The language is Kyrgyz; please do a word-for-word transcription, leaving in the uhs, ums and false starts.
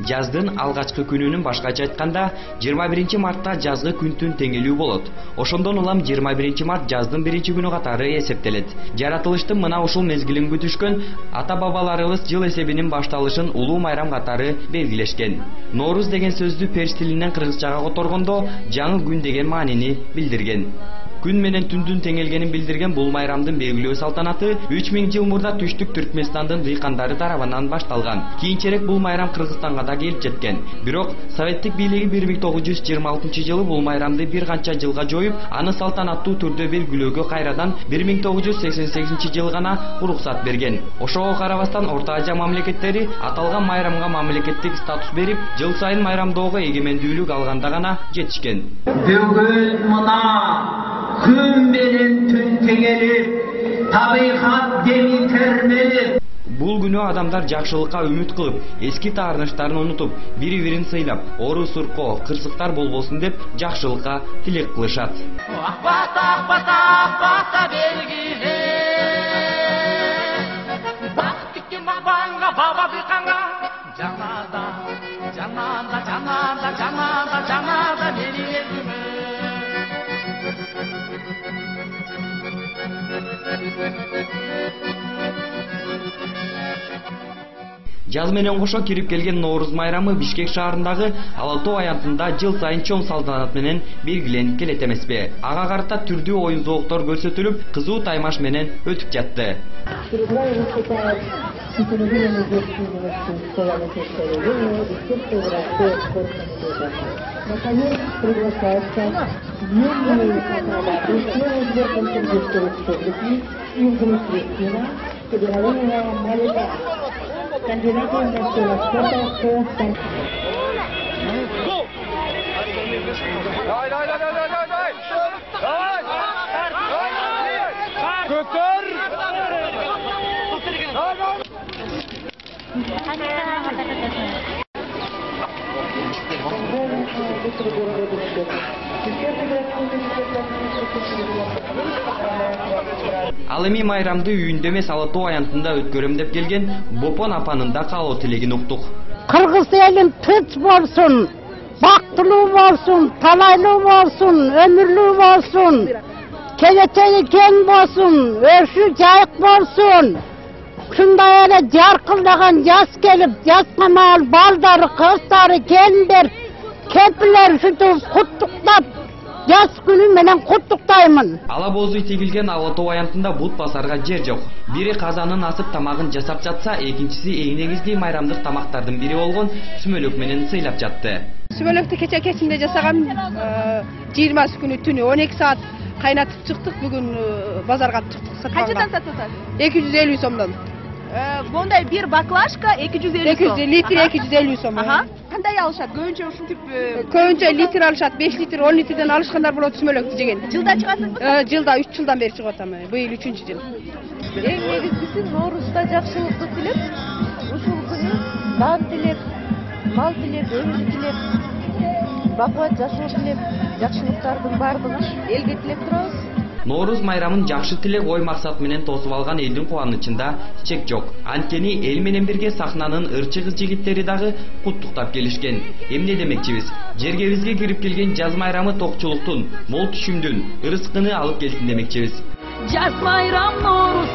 Жаздын алгачкы күнүнүн башкача айтканда жыйырма биринчи мартта жазгы күндүн теңелүү болот. Ошондон улам жыйырма биринчи март жаздын биринчи күнү катары эсептелет. Жаратылыштын мына ушул мезгилин күтүшкөн ата-бабаларыбыз жыл эсебинин башталышын улуу майрам катары белгилешкен. Норуз деген сөздү перс тилинен кыргызчага которгондо жаңы күн деген маанини билдирген. Күн менен түндүн теңелгенин билдирген бул майрамдын белгилөө салтанаты үч миң жыл мурда түштүк Түркмөнстандын дыйкандары тарабынан башталган. Кийинчерээк бул майрам Кыргызстанга да келип жеткен. Бирок советтик бийлиги бир миң тогуз жүз жыйырма алтынчы жылы бул майрамды бир канча жылга жоюп, аны салтанаттуу түрдө белгилөөгө кайрадан бир миң тогуз жүз сексен сегизинчи жылы гана уруксат берген. Ошого карабастан Орто Азия мамлекеттери аталган майрамга мамлекеттик статус берип, жыл сайын майрамдоого эгемендүүлүк алганда гана жетишкен. Бүгүн мына күн менен түн теңелип, табигат деми термелип. Бул күнү адамдар жакшылыкка үмүт кылып, эски таарыныштарын унутуп, бири-бирин сыйлап, ору сурко, кырсыктар болбосун деп жакшылыкка тилек кылышат. Акбата, акбата, акбата белгиле. Бак тиккен бабаңга, баба быкаңга, жанада, жанада, жанада, жанада, жанада мени элиме. Жаз менен кошо кирип келген Норуз майрамы Бишкек шаарындагы Ала тоо аянтында жыл сайын чоң салтанат менен белгиленип келет эмеспи? Ага карата түрдүү оюн зооктор көрсөтүлүп, кызуу таймаш менен өтүп жатты. Наконец приглашается юные федеральная молитва. Кандидаты в начало спорта по станции. Дай, дай, дай, дай, дай, дай! Көтөр! Ал эми майрамды үйүндө эмес Ала тоо аянтында өткөрөм деп келген Бопон апанын да каалоо тилегин уктук. Кыргыз элин тынч болсун, бактылуу болсун, талайлуу болсун, өмүрлүү болсун, келечеги кең болсун, өшү жайык болсун. Ушундай эле жаркылдаган жаз келип, жазга маал балдары, кыздары, келиндер, кемпирлер ушинтип куттуктап, жаз күнү менен куттуктаймын. Ала боозу тигилген Ала тоо аянтында бут басарга жер жок. Бири казанын асып тамагын жасап жатса, экинчиси эң негизги майрамдык тамактардын бири болгон сүмөлөк менен сыйлап жатты. Сүмөлөктү кече кечинде жасагам, жыйырмасы күнү түнү он эки саат кайнатып чыктык. Бүгүн базарга чыктык сатганга. Канчадан сатасыз? эки жүз элүү сомдон. Мондай бир баклажка эки жүз элүү сом. Литр эки жүз элүү сом. Кандай алышат? Көбүнчө ушинтип көбүнчө литр алышат, беш литр, он литрден алышкандар болот сүмөлөктү жеген. Жылда чыгасызбы? Жылда үч жылдан бери чыгып атам. Быйыл үчүнчү жыл. Эң негизгиси Ноорузда жакшылыкты тилеп, ушул күнү дан тилеп, мал тилеп, өмүр тилеп, бакубат жашоо тилеп, жакшылыктардын баардыгын элге тилеп турабыз. Норуз майрамын жакшы тилек ой максат менен тосуп алган элдин кубанычында чек жок. Анткени эл менен бирге сахнанын ырчы кыз жигиттери дагы куттуктап келишкен. Эмне демекчибиз? Жергебизге кирип келген жаз майрамы токчулуктун, мол түшүмдүн, ырыскыны алып келсин демекчибиз. Жаз майрам Норуз